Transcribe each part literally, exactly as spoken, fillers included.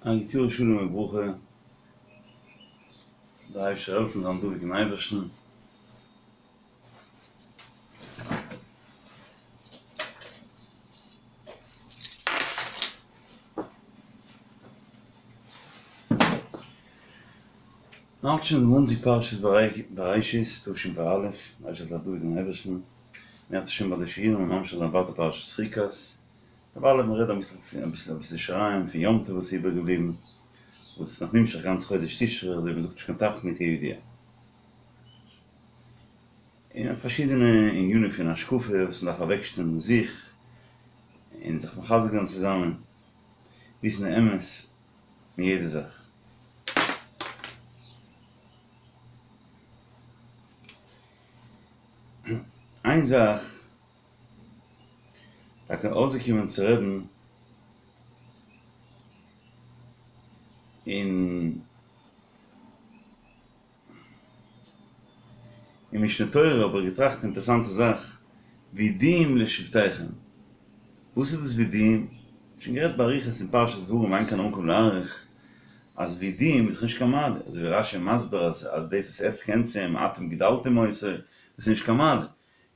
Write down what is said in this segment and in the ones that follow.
א גוט יאר שלום וברכה, דער אייבערשטער זאל העלפן זיין דבוק אין אייבערשטן. מ'האלט שוין די מאנטאג פרשת בראשית תשפ"א, דער אייבערשטער זאל זיין דבוק אין אייבערשטן, מ'האלט שוין ביי די שיעורים און ממשיך זיין ווייטער פרשת חוקת. דערווייל האב מיר גערעדט אביסל אביסל אביסל שיריים פון יום טוב וואס איז איבערגעבליבן, וואס איז נאך נמשך גאנץ חודש תשרי, אזוי ווי מ'זאגט נישט קיין תחנון כידוע. און פארשידענע ענינים פון השקפה וואס מ'דארף אוועקשטעלן זיך און זיך מחזק זיין צוזאמען, וויסן די אמת אין יעדע זאך. איין זאך טאקע אויסגעקומען צו רעדן אין אין משנה תורה האב איך געטראכט אינטערסאנטע זאך, וידועים לשבטיכם, וואס איז דאס וידועים? שוין גערעדט באריכות אין פרשת דברים אין כאן המקום להאריך, אז וידועים איז דאך נישט קיין מעלה, אזוי ווי רש"י מסביר אז אז דאס וואס עטץ קענטס אים אתם גידלתם אותו, דאס איז נישט קיין מעלה,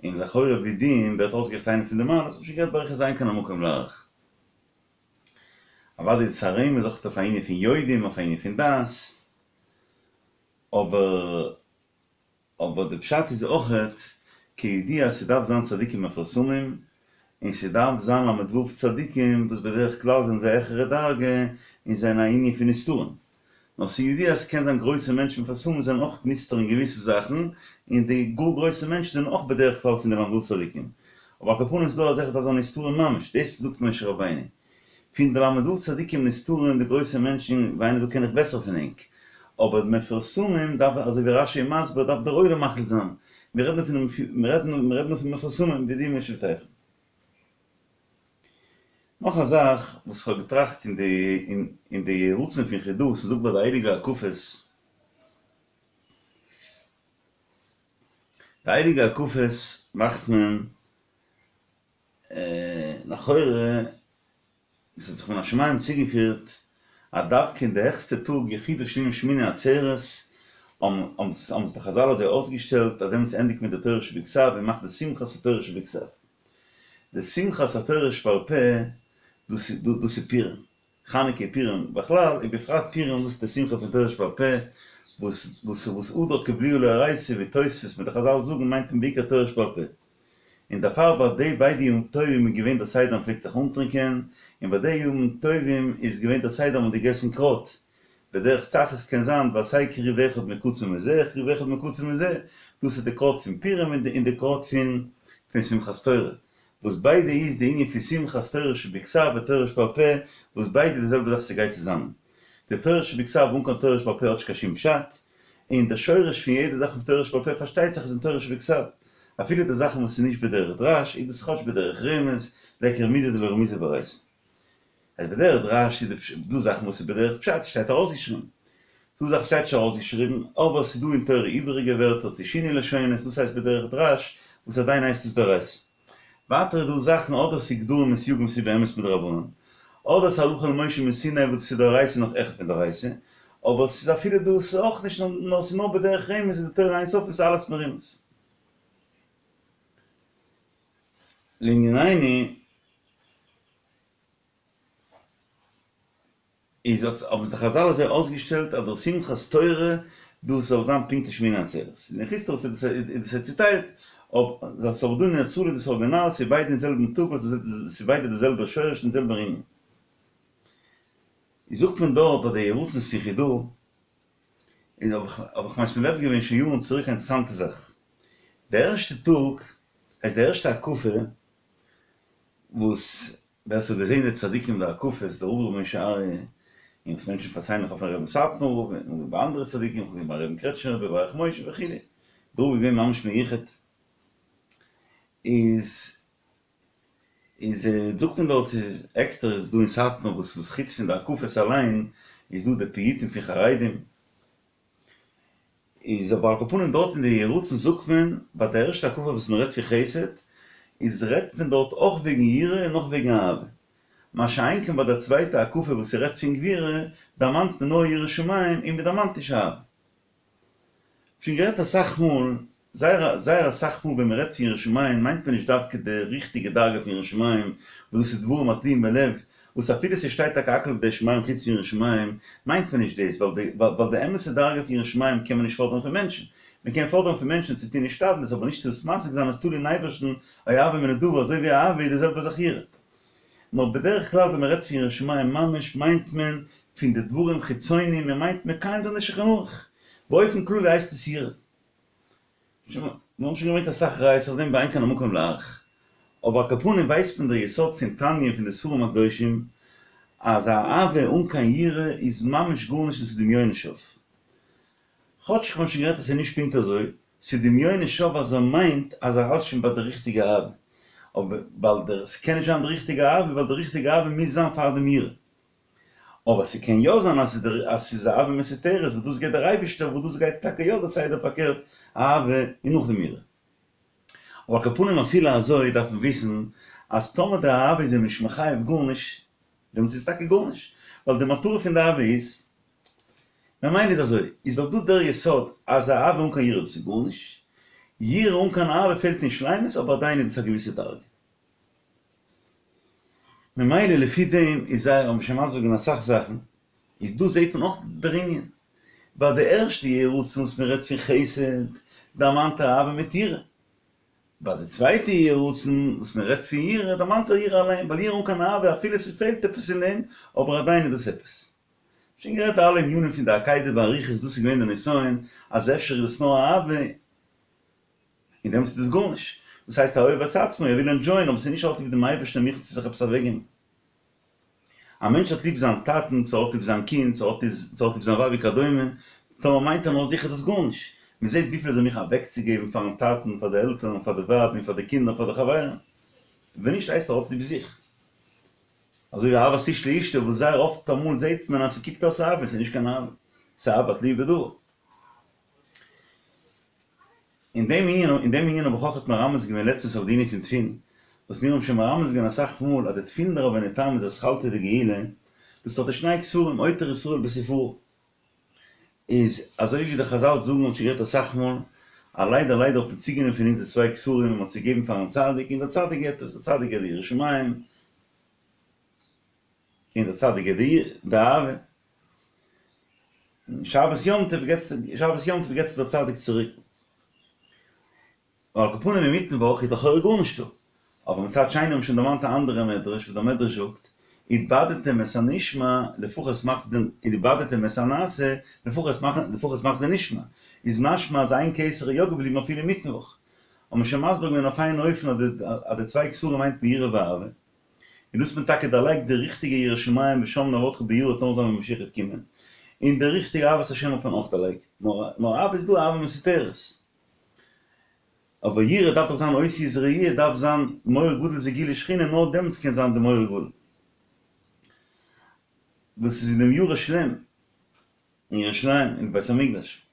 און לכאורה וידועים ווערט אויסגערעכנט איינע פון די מעלות, האב שוין גערעדט באריכות ואין כאן המקום להאריך. אוודאי איז עס א רמז אויך אויף א ענין פון יודעים, אויף א ענין פון דעת, אבער אבער די פשט איז אויכעט כידוע אז ס'דארף זיין צדיקים מפורסמים, און ס'דארף זיין ל"ו צדיקים וואס בדרך כלל זענען זיי העכערע דרגה און זענען א ענין פון נסתרים. נאר ס'ידוע אז ס'קען זיין גרויסע מענטשן מפורסמים זענען אויך נסתר אין געוויסע זאכן, און די גאר גרויסע מענטשן זענען אויך בדרך כלל פון די ל"ו צדיקים. אבער על כל פנים איז דא אזעלכע וואס דארף זיין נסתרים ממש, דאס זאגט משה רבינו. פון די ל"ו צדיקים נסתרים די גרויסע מענטשן ווי איינער זאגט קען איך בעסער פון ענק. אבער מפורסמים דארף אזוי ווי רש"י מסביר דארף דער עולם מחליט זיין. מיר רעדן פון מיר רעדן פון מפורסמים וידועים לשבטיכם. נאך א זאך וואס כ'האב געטראכט אין די אין די יהי רצון פון חיד"א וואס מ'זאגט ביי די הייליגע הקפות, די הייליגע הקפות מאכט מען לכאורה עס האט זיך מן השמים צוגעפירט אז דווקא אין די העכסטע טאג יחידה שנים שמיני עצרת האבן האבן די חז"ל אזוי אויסגעשטעלט אז דעמאלטס ענדיגט מען די תורה שבכתב און מאכט די שמחת התורה שבכתב. די שמחת התורה שבעל פה דאס דאס איז פורים, חנוכה פורים בכלל ובפרט פורים דאס איז די שמחה פון תורה שבעל פה וואס וואס וואס הדר קיבלוה לאורייתא ווי תוספות מיט די חז"ל זאגן מיינט מען בעיקר תורה שבעל פה. און דערפאר ביי די ביידע ימים טובים איז געווען דער סדר מ'פלעגט זיך אנטרינקען, און ביי די ימים טובים איז געווען דער סדר מ'האט געגעסן קראט, בדרך צחות קען זיין ועשה כרוב אחד מקצה מזה כרוב אחד מקצה מזה, דאס איז די קראט פון פורים און די קראט פון פון שמחת תורה, וואס ביידע איז די ענין פון שמחת תורה שבכתב ותורה שבעל פה, וואס ביידע די זעלבע זאך ס'גייט צוזאמען. די תורה שבכתב אן קיין תורה שבעל פה האט נישט קיין שום פשט, און די שורש פון יעדע זאך פון תורה שבעל פה פארשטייט זיך איז אין תורה שבכתב, אפילו די זאכן וואס איז נישט בדרך דרש איז דאס כאטש בדרך רמז, ליכא מידי דלא רמיזא באורייתא. אז בדרך דרש איז דא זאכן וואס איז בדרך פשט ס'שטייט ארויסגעשריבן, דא זאכן שטייט נישט ארויסגעשריבן אבער ס'איז דא אין תורה איבעריגע ווערטער צו שינוי לשונות דאס הייסט בדרך דרש וואס עדיין הייסט עס דאורייתא. ווייטער איז דא זאכן אדער ס'איז גדרים און סייגים ס'איז באמת מדרבנן, אדער ס'איז הלכה למשה מסיני וואס ס'איז דאורייתא נאך העכער פון דאורייתא, אבער ס'איז אפילו דאס אויך נישט נאר ס'איז נאר בדרך רמז איז די תורה אין סוף איז אלעס מרומז. לענינינו. איז האט האבן זיך חז"ל אזוי אויסגעשטעלט אז דער שמחת תורה דאס זאל זיין פונקט אין שמיני עצרת, איז אין חוץ לארץ איז דאס איז צוטיילט, אבער ס'איז אבער דא אין ארץ ישראל איז דאס ארגינאל ס'איז ביידע אין זעלבן טאג ווייל ס'איז ביידע די זעלבע שורש און זעלבער ענין. איז זאגט מען דארט ביי די יהי רצון'ס פון חיד"א, איז האב איך האב איך משים לב געווען שוין יארן צוריק א אינטערעסאנטע זאך, די ערשטע טאג הייסט די ערשטע הקפה וואס ווער ס'האט געזען די צדיקים די הקפות, דער רב ר' משה אריה, און וואס מענטשן פארציילן נאך אויפן רבי'ן סאטמאר רב, און ביי אנדערע צדיקים, ווי ביים רבי'ן קרעטשניפער רבי ברך משה וכו', דער רב איז געווען ממש מיוחד, איז איז זאגט מען דארט עקסטער איז דא אין סאטמאר וואס וואס חוץ פון די הקפות אליין איז דא די פיוטים פון חרדים, איז אבער על כל פנים דארט אין די יהי רצון זאגט מען ביי די ערשטע הקפה וואס מען רעדט פון חסד איז רעדט מען דארט אויך וועגן יראה און אויך וועגן אהבה מה שאין כן ביי די צווייטע הקפה וואס ס'רעדט פון גבורה, דערמאנט מען נאר יראת שמים און מ'דערמאנט נישט אהבה. שוין גערעדט אסאך מאל, זייער זייער אסאך מאל ווען מ'רעדט פון יראת שמים מיינט מען נישט דווקא די ריכטיגע דרגה פון יראת שמים, וואס דאס איז דברים התלויים בלב, וואס אפילו ס'שטייט טאקע הכל בידי שמים חוץ פון יראת שמים, מיינט מען נישט דאס, ווייל די ווייל די אמת'ע דרגה פון יראת שמים קען מען נישט פאדערן פון מענטשן. מ'קען פאדערן פון מענטשן צו טון השתדלות, אבער נישט צו עס משיג זיין אז תלוי אין אייבערשטן, אוהבו מנדבה, אזוי ווי אהבה איז די זעלבע זאך יראה. נאר בדרך כלל ווען מ'רעדט פון יראת שמים ממש מיינט מען פון די דברים חיצוניים, מען מיינט מקיים זיין די שולחן ערוך. באופן כללי הייסט עס יראה. מיר האבן שוין געברענגט אסאך ראיות אויף דעם ואין כאן המקום להאריך. אבער על כל פנים ווייסט מען דער יסוד פון תניא און פון די ספרים הקדושים אז א אהבה אן קיין יראה איז ממש גארנישט און ס'איז דמיונות שווא. כאטש כ'האב שוין גערעדט אז ס'איז נישט פונקט אזוי, ס'איז דמיונות שווא אז ער מיינט אז ער האלט שוין ביי די ריכטיגע אהבה. אבער ווייל דער ס'קען נישט זיין די ריכטיגע אהבה ווייל די ריכטיגע אהבה מוז זיין פאר דעם יראה. אבער ס'קען יא זיין אז אז ס'איז אהבה מסותרת וואס דאס געבט דער אייבישטער וואס דאס גייט טאקע יא די סדר פארקערט אהבה און נאכדעם יראה. אבער על כל פנים אפילו אזוי דארף מען וויסן אז טאמער די אהבה איז אים נישט מחייב גארנישט דעמאלטס איז עס טאקע גארנישט ווייל די מטרה פון די אהבה איז ממילא איז אזוי איז דאך דא דער יסוד אז אהבה אן קיין יראה דאס איז גארנישט, יראה אן קיין אהבה פעלט אין שלימות אבער עדיין איז דאס א געוויסע דרגה. ממילא לפי דעם איז זייער האבן שוין מסביר געווען אסאך זאכן, איז דא זעהט מען אויך דער ענין, ביי די ערשטע יהי רצון וואס מען רעדט פון חסד, דערמאנט ער אהבה מיט יראה, ביי די צווייטע יהי רצון וואס מען רעדט פון יראה, דערמאנט ער יראה אליין, ווייל יראה אן קיין אהבה אפילו ס'פעלט עפעס אין דעם, אבער עדיין איז דאס עפעס. שוין גערעדט אלע ענינים פון די עקידה באריכות דאס איז געווען די נסיון אז אפשר איז דאס נאר אהבה, און דעמאלטס איז דאס גארנישט. דאס הייסט א אוהב את עצמו, ער וויל ענדזשויען, אבער ס'איז נישט ער האט ליב דעם אייבערשטן ער מוכן צו זיך עפעס אוועקגעבן. א מענטש האט ליב זיין טאטן, צו ער האט ליב זיין קינד, צו ער האט ליב זיין ווייב וכדומה, טאמער מיינט ער נאר זיך איז דאס גארנישט. מען זעט וויפיל איז ער מוכן אוועקצוגעבן פארן טאטן, פאר די עלטערן, פאר די ווייב און פאר די קינדער, פאר די חברים. ווען נישט הייסט ער האט ליב זיך. אזוי ווי אהבת איש לאשתו וואס זייער אפט אמאל זעט מען אז ס'קוקט אויס אהבה, ס'איז נישט קיין אהבה, ס'איז אהבה תלויה בדבר. אין דעם ענין אין דעם ענין האב איך אויכעט מרמז געווען לעצטנס אויף די ענין פון תפילין, וואס מיר האבן שוין מרמז געווען אסאך מאל אז די תפילין דרבינו תם איז אתחלתא דגאולה, דאס האט די שני כתרים עוטר ישראל בתפארה. איז אזוי ווי די חזל זאגן האבן שוין גערעדט אסאך מאל, אז ליידער ליידער האט מען צוגענומען פון אונז די צוויי כתרים און מען האט עס געגעבן פארן צדיק און דער צדיק געבט עס, דער צדיק געבט די יראת שמים און דער צדיק געבט די אהבה. און שבת יום טוב געבט שבת יום טוב געבט עס דער צדיק צוריק. על כל פנים אינמיטן וואך איז לכאורה גארנישטא. אבער מצד שני האבן שוין דערמאנט א אנדערע מדרש וואס דער מדרש זאגט, איבדתם את הנשמע לפחות מאכטס דעם איבדתם את הנעשה לפחות מאכט לפחות מאכטס די נשמע. איז משמע אז איין כתר איז יא געבליבן אפילו אינמיטן וואך. האט מען שוין מסביר געווען אויף איין אופן אז די צוויי כתרים מיינט מען יראה ואהבה. און דאס האט מען טאקע דערלייגט די ריכטיגע יראת שמים ושם נעבדך ביראה וועט נאר זיין ווען משיח וועט קומען, און די ריכטיגע אהבת השם האט מען אויך דערלייגט, נאר אהבה איז דא אהבה מסותרת, אבער יראה דארף דאך זיין אותיות ראיה דארף זיין מורא גדול זה גילוי שכינה נאר דעמאלטס קען זיין די מורא גדול, דאס איז אין דעם ירושלים, אין ירושלים אין בית המקדש.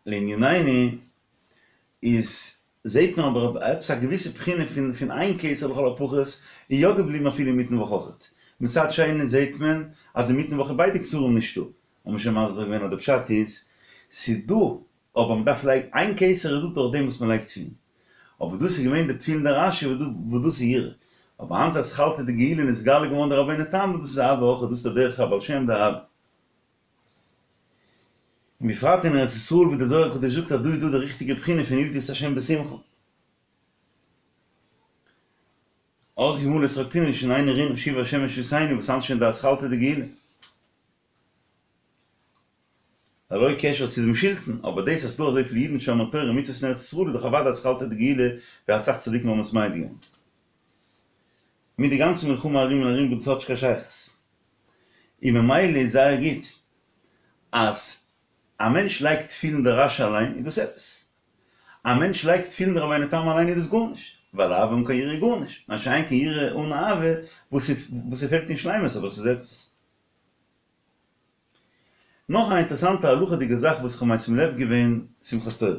לענינינו איז זעהט מען אבער עפעס א געוויסע בחינה פון פון איין כתר לכל הפחות איז יא געבליבן אפילו אינמיטן וואך אויכעט. מצד שני זעהט מען אז אינמיטן וואך איז ביידע כתרים נישטא. האט מען שוין מסביר געווען אז די פשט איז ס'איז דא אבער מ'דארף לייגן איין כתר איז דא דורך דעם וואס מ'לייגט תפילין. אבער דאס איז געווען די תפילין דרש"י וואס דאס איז יראה. אבער היינט איז אתחלתא דגאולה נתגלה געווארן די רבינו תם וואס דאס איז אהבה אויכעט דאס איז דער דרך הבעל שם די אהבה. און בפרט אין ארץ ישראל ווי דער זוהר הקדוש זאגט אז דא איז דא די ריכטיגע בחינה פון עבדו את ה' בשמחה. אז ימלא שחוק פינו שנינו רינה שובה ה' את שביתנו וואס היינט שוין די אתחלתא דגאולה. ללא קשר צו דעם שלטון, אבער דאס אז ס'דא אזויפיל אידן שומרי תורה ומצוות אין ארץ ישראל איז דאך אוודאי אתחלתא דגאולה ווי אסאך צדיקים האבן עס מעיד געווען. מיט די גאנצע מלחמה ארום און ארום וואס דאס האט נישט קיין שייכות. און ממילא איז זייער גוט אז א מענטש לייגט תפילין דרש"י אליין איז דאס עפעס. א מענטש לייגט תפילין דרבינו תם אליין איז דאס גארנישט, ווייל אהבה אן קיין יראה איז גארנישט, מה שאין כן יראה אן אהבה וואס ס'פעלט אין שלימות אבער ס'איז עפעס. נאך א אינטערעסאנטע הלכה'דיגע זאך וואס כ'האב משים לב געווען שמחת תורה.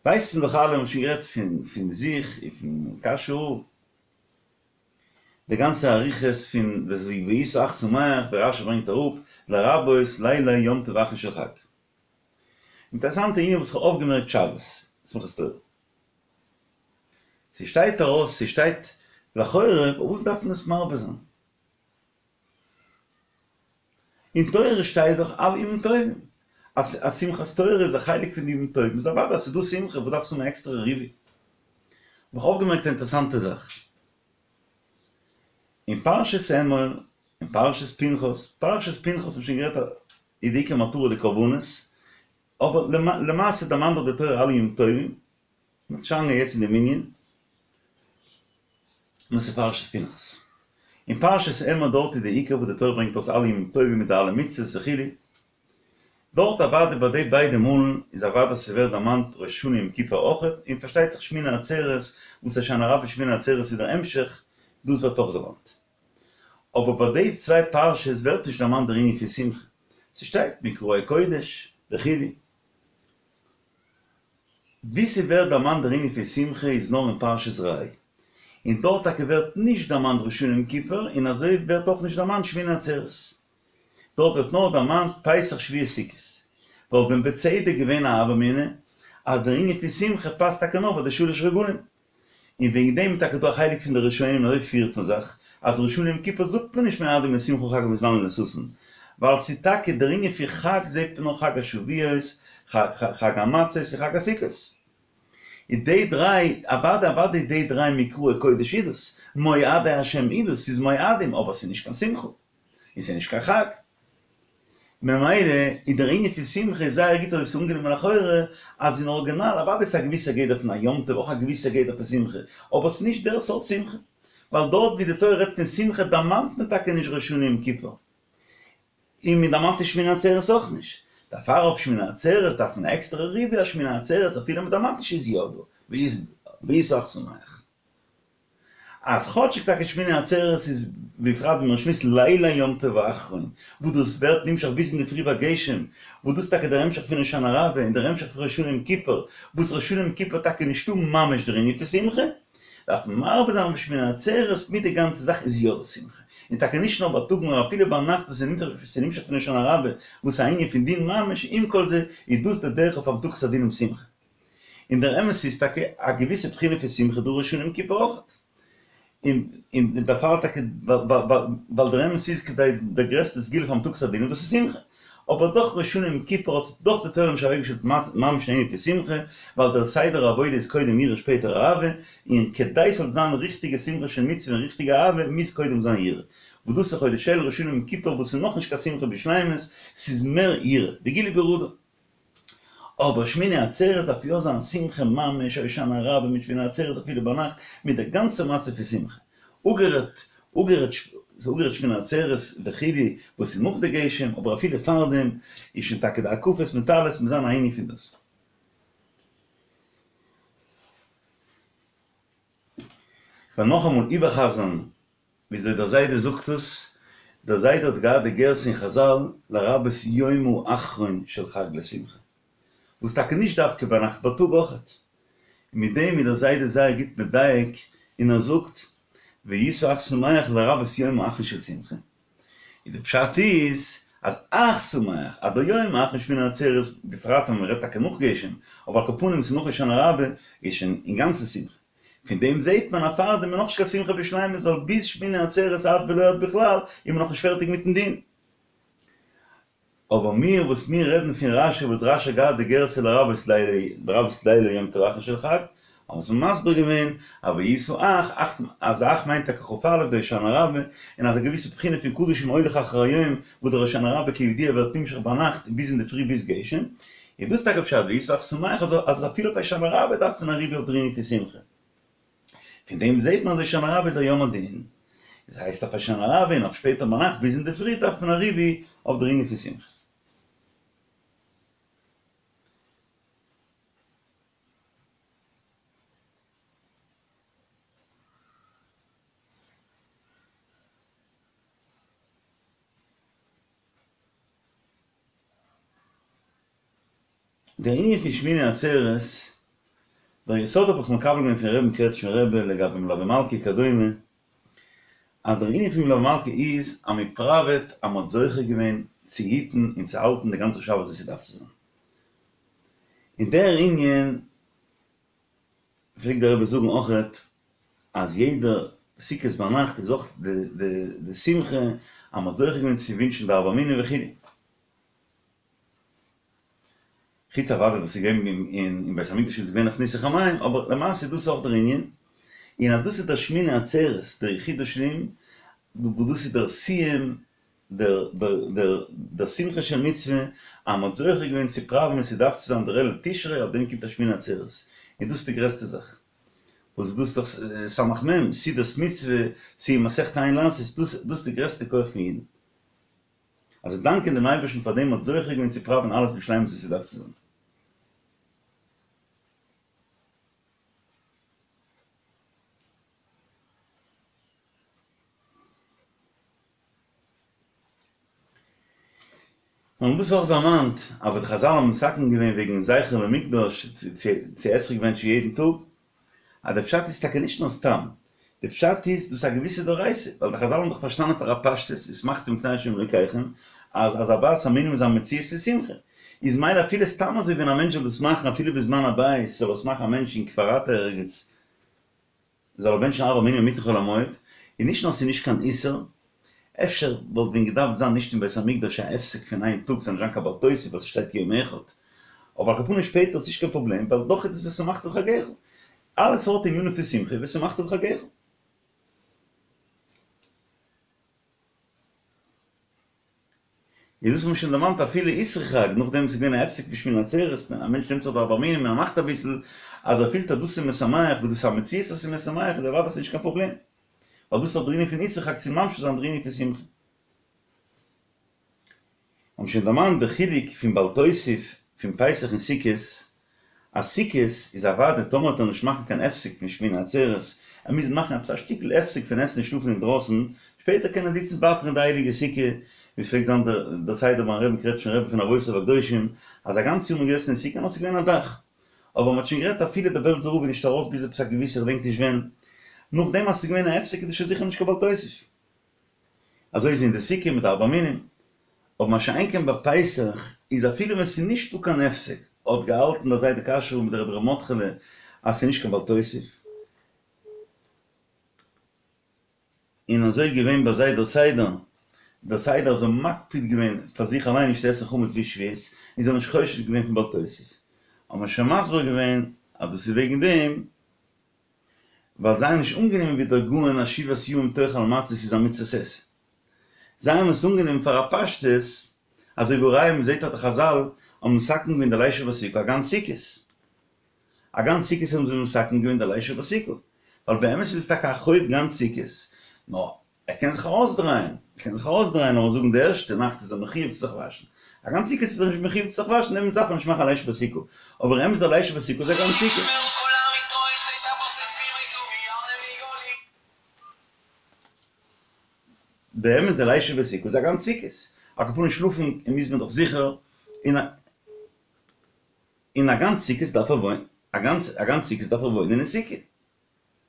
ווייסט מען דאך אלע, מ'האט שוין גערעדט פון פון זיך און פון קאשוי רב. די גאנצע אריכות פון והיית אך שמח ווי רשי ברענגט אראפ לרבות לילי יום טוב אחרון של חג. אינטערעסאנטע ענין וואס איך האב אויפגעמערקט שבת שמחת תורה. ס'שטייט ארויס, ס'שטייט לכאורה, פארוואס דארף מען עס מרבה זיין? אין תורה שטייט דאך אלע ימים טובים, אז אז שמחת תורה איז א חלק פון די ימים טובים, איז אוודאי אז ס'איז דא שמחה, וואס דארפסטו האבן א עקסטערע ריבוי? האב איך אויפגעמערקט א אינטערעסאנטע זאך. אין פרשת אמור, אין פרשת פנחס, פרשת פנחס האט מען שוין גערעדט איז די עיקר מטרה די קרבנות, אבער למעשה דערמאנט דאך די תורה אלע ימים טובים, מ'וועט נישט אריינגיין יעצט אין דעם ענין, דאס איז פרשת פנחס. אין פרשת אמור דארט איז די עיקר וואס די תורה ברענגט אויס אלע ימים טובים מיט די אלע מצוות וכו', דארט אוודאי ביי די ביידע מאלן איז אוודאי ס'ווערט דערמאנט ראש השנה יום כיפור אויכעט, און פארשטייט זיך שמיני עצרת וואס הושענא רבה שמיני עצרת איז דער המשך, דאס ווערט אויך דערמאנט. אבער ביי די צוויי פרשות ווערט נישט דערמאנט דער ענין פון שמחה, ס'שטייט מקראי קודש וכו'. וואו ס'ווערט דערמאנט דער ענין פון שמחה איז נאר אין פרשת ראה, און דארט טאקע ווערט נישט דערמאנט ראש השנה יום כיפור, און אזוי ווערט אויך נישט דערמאנט שמיני עצרת. דארט ווערט נאר דערמאנט פסח שבועות סוכות. וואלט ווען בצדק געווען א הוה אמינא אז דער ענין פון שמחה פאסט טאקע נאר ביי די שלש רגלים. און וועגן דעם איז טאקע דא א חלק פון די ראשונים אזוי פירט מען זיך אז ראש השנה יום כיפור זאגט מען נישט מועדים לשמחה חג המזמנים לששון ווייל ס'איז טאקע דער ענין פון חג זעט מען נאר חג השבועות חג המצות און חג הסוכות איז די דריי אוודאי אוודאי די דריי מקראי קודש איז דאס מועדי השם איז דאס ס'איז מועדים אבער ס'איז נישט קיין שמחה און ס'איז נישט קיין חג. ממילא איז דער ענין פון שמחה איז זייער גוט אזוי ס'איז אנגענומען לכאורה אז אין ארגינאל אוודאי איז א געוויסע גדר פון א יום טוב אויך א געוויסע גדר פון שמחה אבער ס'איז נישט דער סארט שמחה ווייל דארט ווי די תורה רעדט פון שמחה דערמאנט מען טאקע נישט ראש השנה יום כיפור און מען דערמאנט נישט שמיני עצרת אויך נישט דערפאר אויף שמיני עצרת דארף מען א עקסטערע ריבוי אז שמיני עצרת אפילו מען דערמאנט נישט איז יא דא והיית אך שמח. אז כאטשיג טאקע שמיני עצרת איז בפרט ווי מען שמועסט לילי יום טוב האחרון, וואס דאס ווערט נמשך ביז אינדערפרי ביי גשם, וואס דאס איז טאקע דער המשך פון הושענא רבה און דער המשך פון ראש השנה יום כיפור, וואס ראש השנה יום כיפור טאקע נישטא ממש דער ענין פון שמחה, דארף מען מרבה זיין אויף שמיני עצרת מיט די גאנצע זאך איז יא דא שמחה, און טאקע נישט נאר בייטאג נאר אפילו ביינאכט וואס איז נמשך פון הושענא רבה וואס איז א ענין פון דין ממש, עם כל זה איז דאס דער דרך אויף המתקת הדינים שמחה. און דער אמת איז טאקע א געוויסע בחינה פון שמחה דא ראש השנה יום כיפור אויכעט. און און דערפאר טאקע ווייל דער אמת איז כדי דער גרעסטע סגולה פאר המתקת הדינים דאס איז שמחה. אבער דאך ראש השנה יום כיפור האט דאך די תורה נישט אוועקגעשטעלט ממש אן ענין פון שמחה, ווייל דער סדר העבודה איז קודם יראה שפעטער אהבה, און כדי ס'זאל זיין ריכטיגע שמחה של מצוה און ריכטיגע אהבה מוז קודם זיין יראה. וואס דאס איז חודש אלול ראש השנה יום כיפור וואס איז נאכנישט קיין שמחה בשלימות, ס'איז מער יראה, וגילוי ברעדה. אבער שמיני עצרת דארף יא זיין שמחה ממש, הושענא רבה מיט שמיני עצרת אפילו ביינאכט, מיט די גאנצע מצב פון שמחה. אפגערעדט אפגערעדט אפגערעדט שמיני עצרת וכו' וואס איז נאך די גשם, אבער אפילו פארדעם איז שוין טאקע די הקפות מיט אלעס מוז זיין א ענין פון דאס. כ'וועל נאכאמאל איבערחזר'ן וויאזוי דער זיידע זאגט עס, דער זיידע האט געהאט די גירסא אין חזל לרבות יום האחרון של חג לשמחה, וואס טאקע נישט דווקא ביינאכט בייטאג אויכעט, און מיט דעם איז דער זיידע זייער גוט מדייק און ער זאגט והיית אך שמח לרבות יום האחרון של שמחה, און די פשט איז אז אך שמח אז דער יום האחרון שמיני עצרת בפרט ווען מען רעדט טאקע נאך גשם, אבער על כל פנים ס'איז נאך הושענא רבה איז שוין אינגאנצן שמחה. פון דעם זעהט מען אז פארדעם איז נאכנישט קיין שמחה בשלימות ווייל ביז שמיני עצרת עד ולא עד בכלל איז מען נאכנישט פערטיג מיטן דין. אבער מיר וואס מיר רעדן פון רשי וואס רשי האט געהאט די גירסא לרבות לילי לרבות לילי יום טוב האחרון של חג האבן מיר מסביר געווען אז והיית אך אך אז אך מיינט טאקע כ"א די הושענא רבה און אז א געוויסע בחינה פון קדוש הולך אחר היום וואס דער הושענא רבה כידוע ווערט נמשך ביינאכט ביז אינדערפרי ביז גשם איז דאס טאקע פשט והיית אך שמח אז אפילו אויף הושענא רבה דארף מען א ריבוי אויף דער ענין פון שמחה. פון דעם זעט מען אז הושענא רבה איז א יום הדין. דאס הייסט אויף הושענא רבה און אויף שפעטער ביינאכט ביז אינדערפרי דארף מען א ריבוי אויף דער ענין פון שמחה. דער ענין פון שמיני עצרת, דער יסוד האב איך מקבל געווען פון רבי'ן קרעטשמער רבי לגבי מלוה מלכה וכדומה, אז דער ענין פון מלוה מלכה איז אז מען פראוועט אז מען האט זוכה געווען צו היטן און צו האלטן די גאנצע שבת ווי ס'דארף צו זיין. און דער ענין פלעגט דער רבי זאגן אויכעט אז יעדע סוכות ביינאכט איז אויך די שמחה אז מען האט זוכה געווען צו ווינטשן די ארבע מינים וכו'. חוץ אוודאי וואס איז געווען אין בית המקדש איז געווען אויף ניסוך המים, אבער למעשה איז דאס אויך דער ענין, און אז דאס איז דער שמיני עצרת, דער יחידה שלים, וואס דאס איז דער סיום, דער דער דער שמחה של מצוה, אז מ'האט זוכה געווען צו פראווען ווי ס'דארף צו זיין דער אלול תשרי, אויף דעם קומט א שמיני עצרת, און דאס איז די גרעסטע זאך. וואס דאס איז דאך סמך מם, סעודת מצוה, סיום מסכת אין לעשות, דאס דאס איז די גרעסטע כח פון אידן. אז זיי דאנקען דעם אייבערשטן פאר דעם מ'האט זוכה געווען צו פראווען אלעס בשלימות ווי ס'דארף צו זיין. און דאס אויך דערמאנט, אבער די חזל האבן מתקן געווען וועגן זכר למקדש צו אתרוג בענטשן יעדן טאג, אז די פשט איז טאקע נישט נאר סתם, די פשט איז דאס א געוויסע דאורייתא, ווייל די חזל האבן דאך פארשטאנען פאר א פשטות, ושמחתם לפני ה' אלוקיכם, אז אז ארבעת המינים איז א מציאות פון שמחה, איז מילא אפילו סתם אזוי ווען א מענטש זאל דאס מאכן אפילו בזמן הבית זאל עס מאכן א מענטש אין כפר אתא ערגעץ, זאל ער בענטשן ארבע מינים אינמיטן חול המועד, און נישט נאר ס'איז נישט קיין איסור, אפשר וואלט ווען געדארפט זיין נישט אין בית המקדש א הפסק פון איין טאג ס'זאל נישט זיין קיין בל תוסיף ווייל ס'שטייט יום אחד, אבער על כל פנים שפעטער איז נישט קיין פראבלעם ווייל דאך איז עס ושמחת בחגך, אלע סארט ענינים פון שמחה ושמחת בחגך. איז דאס האט מען שוין דערמאנט אפילו אסרו חג, נאכדעם וואס איז געווען א הפסק פון שמיני עצרת, ווען א מענטש נעמט זיך די ארבע מינים און ער מאכט אביסל, אז ער פילט אז דאס איז משמח, וואס דאס איז א מציאות אז ס'איז משמח, איז אוודאי ס'נישט קיין פראבלעם, ווייל דאס איז דאך דער ענין פון אסרו חג צו ממשיך זיין דער ענין פון שמחה. האבן שוין דערמאנט די חילוק פון בל תוסיף פון פסח און סוכות, אז סוכות איז אוודאי טאמער וועט ער נישט מאכן קיין הפסק פון שמיני עצרת, ער מוז מאכן עפעס א שטיקל הפסק פון עסן און שלאפן אינדרויסן, שפעטער קען ער זיצן ווייטער אין די הייליגע סוכה, ווי עס פלעגט זיין דער סדר ביים רבין קרעטשניפער רבי פון אבותיו הקדושים, אז א גאנץ יאר איז מען געזעסן אין סוכה נאר ס'איז געווען א דאך. אבער מ'האט שוין גערעדט אפילו דער בעלזער רב איז נישט ארויס ביז עפעס א געוויסע כ'דענק נישט ווען, נאכדעם אז ס'איז געווען א הפסק איז דאס שוין זיכער נישט קיין בל תוסיף. אזוי איז אין די סוכה מיט ארבע מינים. אבער מה שאין כן ביי פסח איז אפילו ווען ס'איז נישט דא קיין הפסק, האט געהאלטן דער זיידע קאשוי מיט דער רבי ר' מרדכי'לע אז ס'איז נישט קיין בל תוסיף, און אזוי איז געווען ביי זיי דער סדר, דער סדר אז זיי האבן מקפיד געווען פאר זיך אליין נישט צו עסן חמץ ביז שבועות, און זיי האבן נישט חושש געווען פון בל תוסיף, האט מען שוין מסביר געווען אז דאס איז וועגן דעם ווייל זיי האבן נישט אנגענומען ווי דער גאון אז שבעת ימים תאכל מצות איז א מצות עשה. זיי האבן עס אנגענומען פאר א פשטות, אזוי והא ראיה מ'זעט אז די חזל האבן מתקן געווען די לישב בסוכה א גאנץ סוכות. א גאנץ סוכות האבן זיי מתקן געווען די לישב בסוכה. ווייל באמת איז עס טאקע א חוב גאנץ סוכות, נאר ער קען זיך ארויסדרייען, ער קען זיך ארויסדרייען לאמיר זאגן די ערשטע נאכט איז ער מחיוב צו זיך וואשן, א גאנץ סוכות איז ער נישט מחיוב צו זיך וואשן, דעמאלטס דארף ער נישט מאכן א לישב בסוכה, אבער אמת דער לישב בסוכה איז א גאנץ סוכות. באמת דער לישב בסוכה איז א גאנץ סוכות, על כל פנים שלאפן מוז מען דאך זיכער, און א גאנץ סוכות דארף ער וואוינען, א גאנץ סוכות דארף ער וואוינען אין סוכה,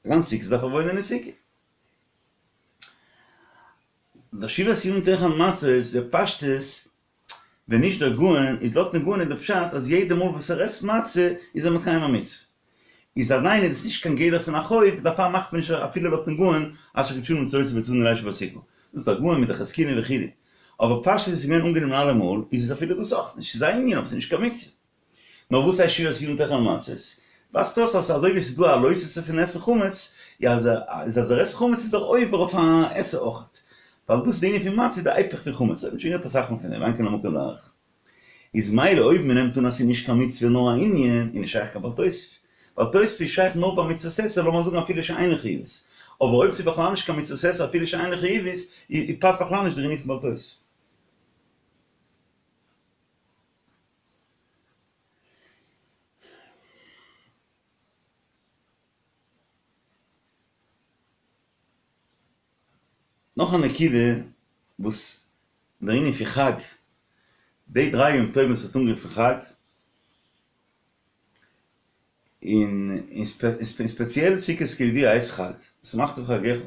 א גאנץ סוכות דארף ער וואוינען אין סוכה. דער שבעת ימים תאכל מצות איז בפשטות, ווען נישט דער גאון, איז לויטן גאון איז דער פשט אז יעדע מאל וואס ער עסט מצה איז ער מקיים א מצוה. איז עדיין איז עס נישט קיין גדר פון א חוב, דערפאר מאכט מען נישט אפילו לויטן גאון אשר קדשנו במצותיו וצונו לישב בסוכה. דאס איז דער גאון מיט די חזקוני וכו'. אבער פשטות איז געווען אנגענומען אלעמאל, איז עס אפילו דאס אויך נישט, ס'איז א ענין אבער ס'איז נישט קיין מצוה. נאר וואס הייסט שבעת ימים תאכל מצות? ווייזט אויס אז אזוי ווי עס איז דא א לא תעשה פון עסן חמץ, איז אז ער עסט חמץ איז ער עובר אויף א עשה אויכעט. ווייל דאס די ענין פון מצה איז די היפך פון חמץ, האט מען שוין גערעדט אסאך מאל פון דעם, ואין כאן המקום להאריך. איז מילא אויב מען נעמט אן אז ס'איז נישט קיין מצוה נאר א ענין, איז נישט שייך קיין בל תוסיף. בל תוסיף איז שייך נאר ביי מצוות עשה, לאמיר זאגן אפילו שאינה חיובית. אבער אויב ס'איז בכלל נישט קיין מצוות עשה אפילו שאינה חיובית, איז פאסט בכלל נישט דער ענין פון בל תוסיף. נאך א נקודה וואס דער ענין פון חג, די דריי יום טובים וואס ווערט אנגערופן חג, און ספעציעל סוכות כידוע הייסט חג, ושמחת בחגך,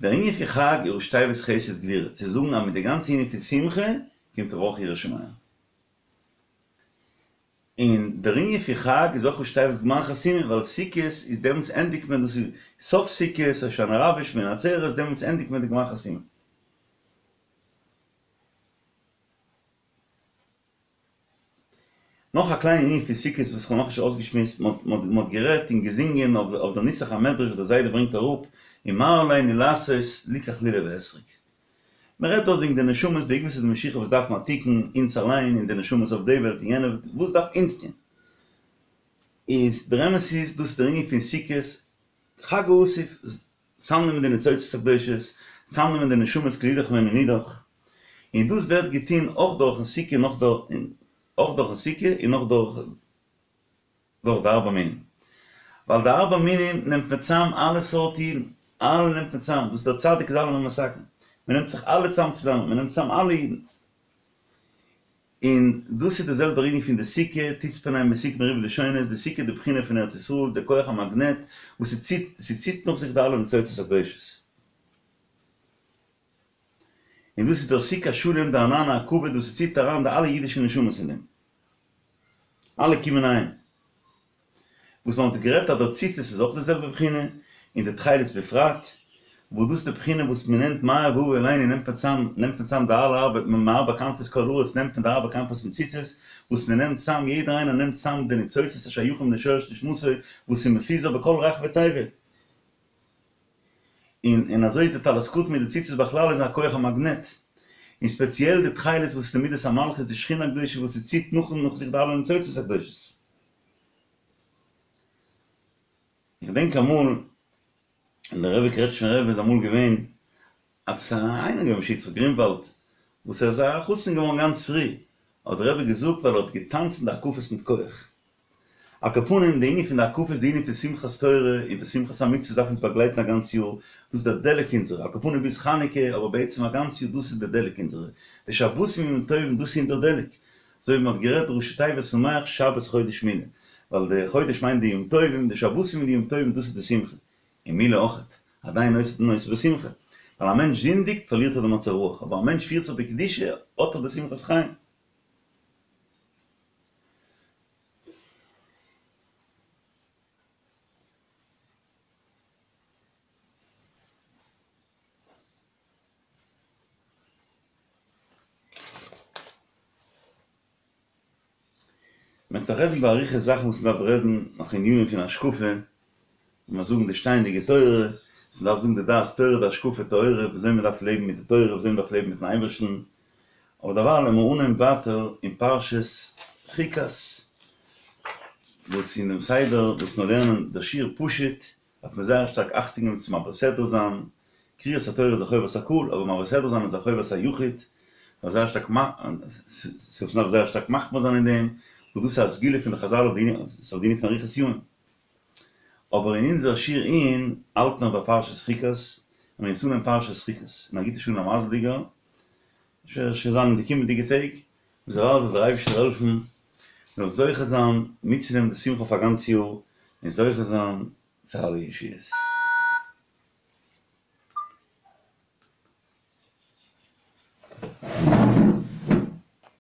דער ענין פון חג איז ראשי תיבות חסד גבורה, צו זאגן אז מיט די גאנצע ענין פון שמחה קומט אויך יראת שמים. און דער ענין פון חג איז אויך ראשי תיבות גמר חתימה, ווייל סוכות איז דעמאלטס ענדיגט מען דאס איז סוף סוכות, הושענא רבה, שמיני עצרת, דעמאלטס ענדיגט מען די גמר חתימה. נאך א קליינע ענין פון סוכות וואס כ'האב נאכנישט אויסגעשמועסט, מ'האט גערעדט און געזינגען אויף דער נוסח המדרש וואס דער זיידע ברענגט אראפ, ומה עלינו לעשות ליקח לולב ואתרוג. מ'רעדט דארט וועגן די נשמות בעקבתא דמשיחא וואס דארפן א תיקון, אונז אליין און די נשמות אויף די וועלט און יענע וועלט, וואס דארף אונז טון? איז דער אמת איז דאס איז דער ענין פון סוכות, חג האסיף, צאמנעמען די ניצוצות הקדושות, צאמנעמען די נשמות כל אידך ואינון אידך, און דאס ווערט געטון אויך דורכן סוכה און אויך דורכן סוכה און אויך דורך דורך די ארבע מינים, ווייל די ארבע מינים נעמט מען צאם אלע סארט אידן, אלע נעמט מען צאם, דאס איז דער צדיק איז אלעמען מתקן, מען נעמט זיך אלע צאם צוזאמען, מען נעמט צאם אלע אידן. און דאס איז די זעלבע ענין פון די סוכה, תצפניים מסוכה מריב לשונות, די סוכה איז די בחינה פון ארץ ישראל, די כח המאגנעט וואס ס'ציט, ס'ציט נאך זיך די אלע ניצוצות הקדושות. און דאס איז דער סוכה שלם, די ענני הכבוד וואס ס'ציט אריין די אלע אידישע נשמות אין דעם. אלע קומען אהיים. וואס מען האט גערעדט אז דער ציצית איז אויך די זעלבע בחינה, און די תכלת בפרט, וואס דאס איז די בחינה וואס מען נעמט מהר והבה אלינו נעמט מען צאם, נעמט מען צאם די אלע ארבע מארבע כנפות כל הארץ נעמט מען די ארבע כנפות פון ציצית, וואס מען נעמט צאם יעדער איינער נעמט צאם די ניצוצות השייכים לשורש נשמתו וואס איז מפוזר בכל רחבי תבל. און און אזוי איז די טלית קטן מיט די ציצית בכלל איז א כח המאגנעט, און ספעציעל די תכלת וואס איז די מידת המלכות די שכינה הקדושה וואס ס'ציט נאך נאך זיך די אלע ניצוצות הקדושות. איך געדענק אמאל ווען דער רבי קרעטשניפער רבי איז אמאל געווען עפעס א איינער געווען משה יצחק גרינוואלד וואס ער איז א חתן געווארן גאנץ פרי, האט דער רבי געזאגט ווייל ער האט געטאנצן די הקפות מיט כח. על כל פנים די ענין פון די הקפות די ענין פון שמחת תורה און די שמחת המצוות דארף אונז באגלייטן א גאנץ יאר, דאס איז דער דלק אונזערע, על כל פנים ביז חנוכה אבער בעצם א גאנץ יאר דאס איז דער דלק אונזערע, די שבתים ימים טובים דאס איז אונזער דלק, אזוי ווי מען האט גערעדט ראשי תיבות שמח שבת חודש מילה, ווייל די חודש מיינט די יום טובים, די שבתים און די יום טובים דאס איז די שמחה, און מילה אויכעט, עדיין עושה עושה בשמחה, ווייל א מענטש זינדיגט פארלירט ער די מצב רוח, אבער א מענטש פירט זיך בקדושה האט ער די שמחת חיים. מען וועט רעדן באריכות זאכן וואס מען דארף רעדן נאך ענינים פון השקפה, ווען מיר זאגן די שטייענדיגע תורה, וואס מען דארף זאגן די דעת תורה די השקפה טהורה, ווי אזוי מען דארף לעבן מיט די תורה, ווי אזוי מען דארף לעבן מיטן אייבערשטן, אבער דערווייל לאמיר אנהייבן ווייטער אין פרשת חוקת, וואס אין דעם סדר וואס מיר לערנען דער שיעור פשוט, דארף מען זייער שטארק אכטונג געבן צו מעביר סדרה זיין, קריאת התורה איז א חובת הקהל, אבער מעביר סדרה זיין איז א חובת היחיד, מ'דארף זייער שטארק מ'דארף זייער שטארק מחמיר זיין אין דעם, וואס דאס איז א סגולה פון די חזל אויף די ענין פון אריכות ימים. אבער אין אונזער שיעור עיון האלט מען ביי פרשת חוקת, און מיר יעצט אנהייבן פרשת חוקת, און א גוטע שעה און א מזל'דיגער, שוין זיין אין די קומענדיגע טעג, בעז"ה זאל דער אייבערשטער העלפן מען זאל זוכה זיין מיטצונעמען די שמחה אויף א גאנץ יאר, און זוכה זיין צו אלע ישועות.